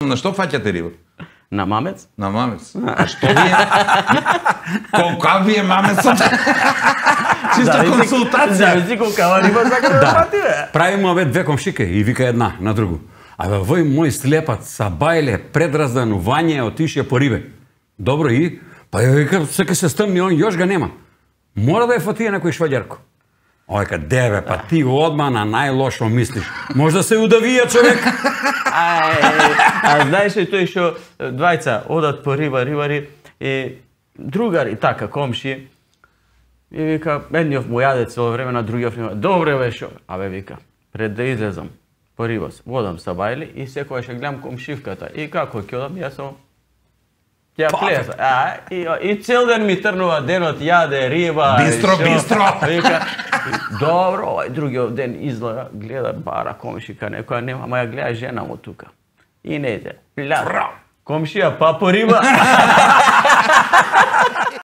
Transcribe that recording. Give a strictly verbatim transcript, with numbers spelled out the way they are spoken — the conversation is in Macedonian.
На што фаќате риба? На мамец? На мамец. А што ви е? Колка ви е мамецот? Чисто консултација. Зависи колкава риба сака да фати, бе. Правиме ове две комшике и вика една на другу. Абе, вој мој слепат са бајле предразданување отише по рибе. Добро и? Па ја вика, сека се стъмни, он још га нема. Мора да е фатија некој шваѓарко. Ој ка деве, па ти одма на најлошо мислиш. Може да се удавија човек. Ај, а знаеш ли тој што двајца одат по риба, рибари и другари така комши и вика едниот му јаде цело време, на другиот нема. Добре бе шо? Абе вика, пред да излезам по риба, водам са бајли и секојаш ќе гледам комшивката и како ќе одам јас само ќе плеса. А и и цел ден ми трнува денот, јаде риба. Бистро, бистро. Вика, добро, овај другиот ден излага, гледа бара комшика, некоја нема, ама ја гледа жена му тука. И не иде. Пля. Комшија, па по риба.